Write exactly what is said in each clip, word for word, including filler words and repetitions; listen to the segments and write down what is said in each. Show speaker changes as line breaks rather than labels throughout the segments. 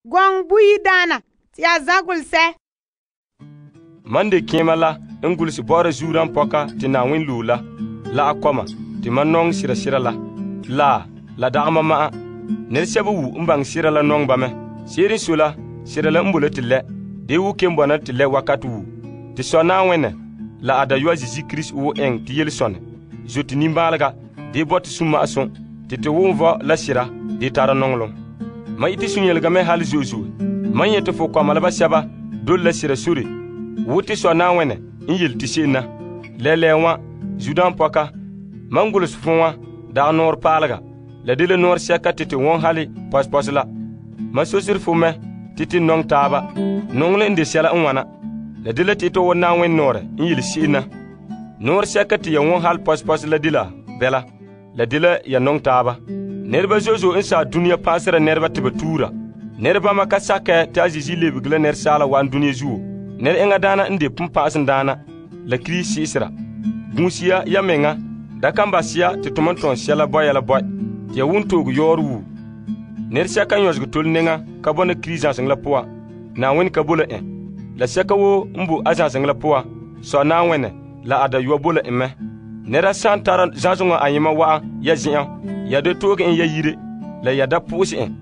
Gɔŋɔ buyi daana te ya zagole sɛ.
Man de keema la n gulese bɔ'ɔra zuodaam pɔka te Na'ayenɛ loe la, la a kɔma te mam nɔŋɛ sera sera la. La, la dagɛ mam ma'an. Nɛresɛba wu n baŋɛ sera la nɔŋɛ ba mɛ. Se'ere n sɔe la, sera la n boe la te lɛ. De wo kelom bɔna te lɛ wakate wu. Te Sɔ Na'ayenɛ la a Dayɔa Zeezi Krista wo eŋɛ te yelesɔnɛ zote nimbaalega de bɔte sunma'asum te te wom vɔ la sera de tara nɔŋɔlom. Ma ite sunyelega mɛ hali zo'e zo'e. Man yete fo kɔma la basɛba dole la sera sore wo te Sɔ Na'ayenɛ n yele te se'em na. Lɛlɛɛ wã, zuodaam pɔka, mam golese fo wã dagɛ nɔɔrɛ paalega. La de la nɔɔrɛ sɛka te te wɔn hali pɔsepɔse la. Mam sosere fo mɛ te te nɔŋɛ taaba. Nɔŋɔlɛ n de sɛla n wana. La de la te to wɔ Na'ayenɛ nɔɔrɛ n yele se'em na. Nɔɔrɛ sɛka te ya wɔn hali pɔsepɔse la de la bɛla. La de la ya nɔŋɛ taaba. Nɛreba zo'e zo'e n saa dunia pa'asera nɛreba te ba tuura. Nɛrebama ka sakɛ te a Zeezi lebege la nɛresaala wa'an dunia zuo. Nɛra enŋa daana n de ponpa'asem daana la Kirista se'esera. Gunsiya ya menga da kan basiya te to man tɔn sɛla bɔya la bɔi te ya won tooge yɔɔre wu. Nɛresɛka n yɔsege tole neŋa ka bɔna Kirista zãseŋa la poan, Na'ayenɛ ka bo la en. La sɛka woo n bo a zãseŋa la poan, Sɔ Na'ayenɛ la a Dayɔa bo la en mɛ. Nɛra san tara zãsoŋa ayema wa'an ya zen'an, ya da tooge en ya yire, la ya da po'ose en.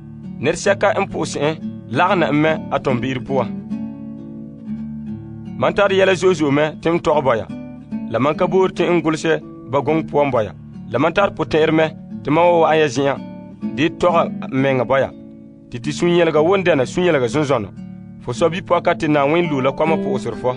Nɛresɛka n po'ose en lagena en mɛ a tɔnbe'ero poan. Man tare yɛla zo'e zo'e mɛ te n tɔgɛ bɔya. La man ka boore te n golesɛ ba gɔŋɔ poan bɔya. La man tare potɛn'ɛrɛ mɛ te man wa wa'an ya zen'an de tɔgɛ n mɛŋa bɔya. Te te sunyɛlega won dɛna sunyɛlega zonzɔnɔ. Fo sɔ bipɔka te Na'ayenɛ loe la kɔma po'oserɛ fɔ.